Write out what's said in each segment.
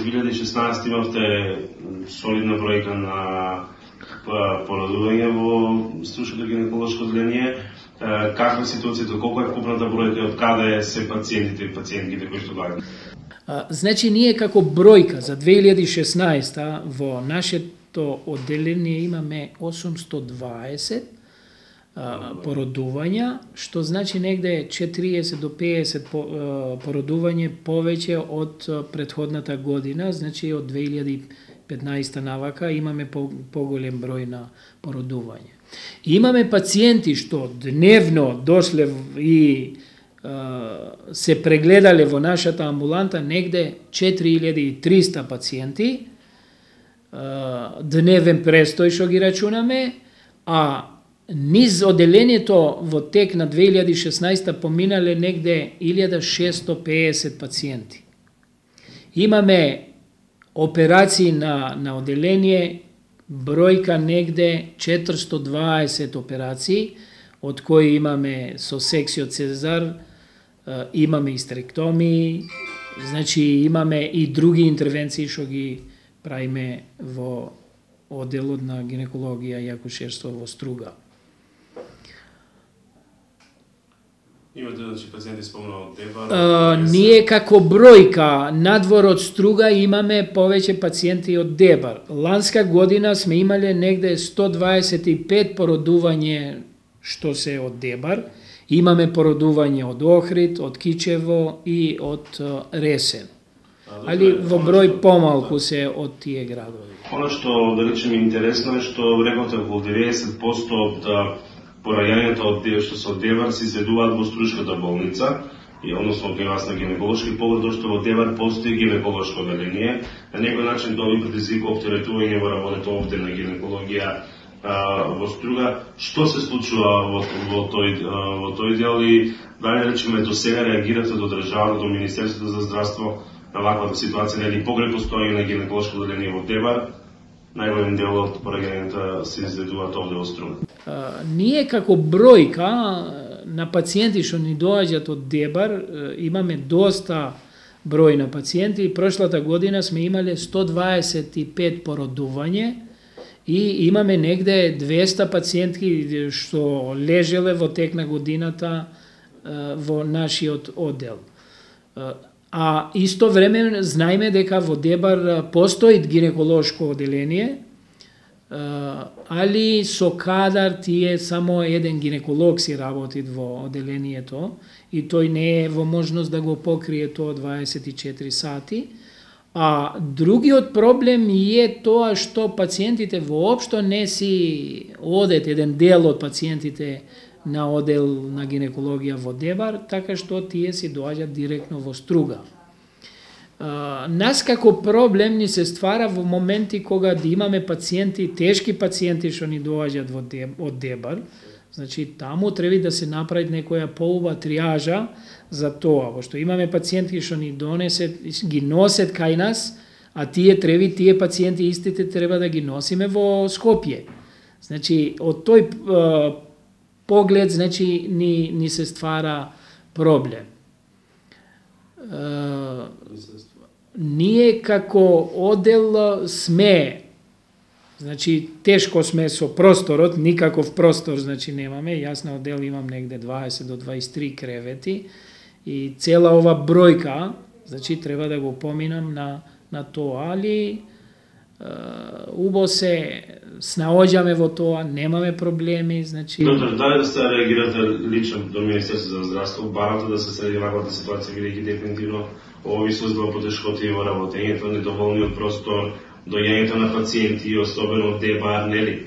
2016 имавте солидна бројка на породување во струшкото гинеколошко одделение. Каква е ситуацијата, колку е вкупната бројка и од каде се пациентите и пациентките кои што доаѓаат? Значи, ние како бројка за 2016 во нашето одделение имаме 820 породувања, што значи негде 40 до 50 породување повеќе од претходната година, значи од 2015 навака имаме поголем број на породување. Имаме пациенти што дневно дошле и се прегледале во нашата амбуланта негде 4300 пациенти, дневен престој што ги рачунаме, а низ одделението во тек на 2016 поминале негде 1650 пациенти. Имаме операции на одделение, бројка негде 420 операции, од кои имаме со секцио Цезар, имаме истеректомии, значи имаме и други интервенции што ги правиме во одделот на гинекологија и акушерство во Струга. Имате, значи, пациенти спомнаа од Дебар? Ние како бројка надвор од Струга имаме повеќе пациенти од Дебар. Ланска година сме имале негде 125 породување што се од Дебар. Имаме породување од Охрид, од Кичево и од Ресен. Али во број помалку се од тие градови. Оно што, да речем, интересно е што рековте околу 90% од пораѓањето од што се од Дебар се изведуваат во Струшката болница, и односно кај вас на гинеколошки поглед, што во Дебар постои гинеколошко одделение. На некој начин тоа ви предизвикува оптеретување во работата овде на гинекологија во Струга. Што се случува во тој дел и дали, речеме, до сега реагирате до државата, до Министерството за здравство на ваквата ситуација, нели покрај постоење на гинеколошко одделение во Дебар, најголем дел од пораѓањата се изведуваат овде во Струга? Ние како бројка на пациенти што ни доаѓаат од Дебар имаме доста број на пациенти. Прошлата година сме имале 125 породување и имаме негде 200 пациентки што лежеле во тек на годината во нашиот оддел. А исто време знаеме дека во Дебар постои гинеколошко одделение, али со кадар тие само еден гинеколог си работи во одделението и тој не е во можност да го покрие тоа 24 сати. А другиот проблем е тоа што пациентите воопшто не си одат, еден дел од пациентите на оддел на гинекологија во Дебар, така што тие си доаѓаат директно во Струга. Нас како проблем ни се ствара во моменти кога да имаме пациенти, тешки пациенти што ни доаѓаат од Дебар, значи таму треба да се направи некоја поуба триажа за тоа, пошто имаме пациенти што ни ги носат кај нас, а тие пациенти истите треба да ги носиме во Скопје. Значи од тој поглед, значи ни се ствара проблем. Ние како оддел сме, значи тешко сме со просторот, никаков простор значи немаме. Јас на оддел имам негде 20 до 23 кревети и цела ова бројка, значи треба да го поминам на тоа, али убаво се снаоѓаме во тоа, немаме проблеми, значи... Доктор, дали да сте реагирате лично до Министерството за здравство, барате да се среди ваквата ситуација, бидејќи дефинитивно ово ви создава потешкоти во работењето, недоволниот простор, доаѓањето на пациенти, особено од Дебар, нели,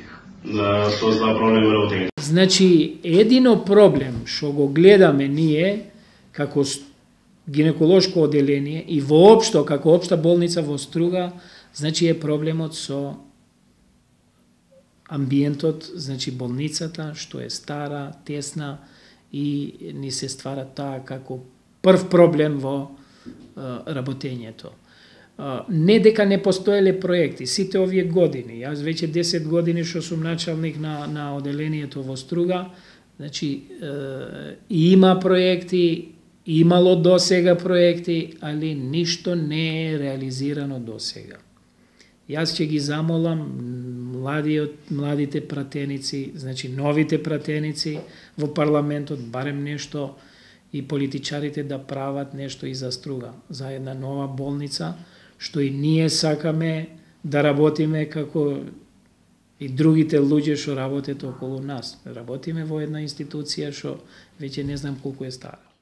создава проблем во работењето? Значи, едино проблем што го гледаме ние како гинеколошко одделение и воопшто како општа болница во Струга, значи е проблемот со амбиентот, значи болницата, што е стара, тесна и ни се ствара таа како прв проблем во работењето. Не дека не постоеле проекти, сите овие години, јас веќе 10 години што сум началник на одделението во Струга, значи има проекти, имало до сега проекти, али ништо не е реализирано до сега. Јас ќе ги замолам младите пратеници, значи новите пратеници во парламентот, барем нешто, и политичарите да прават нешто и за Струга, за една нова болница, што и ние сакаме да работиме како и другите луѓе што работат околу нас. Работиме во една институција што веќе не знам колку е стара.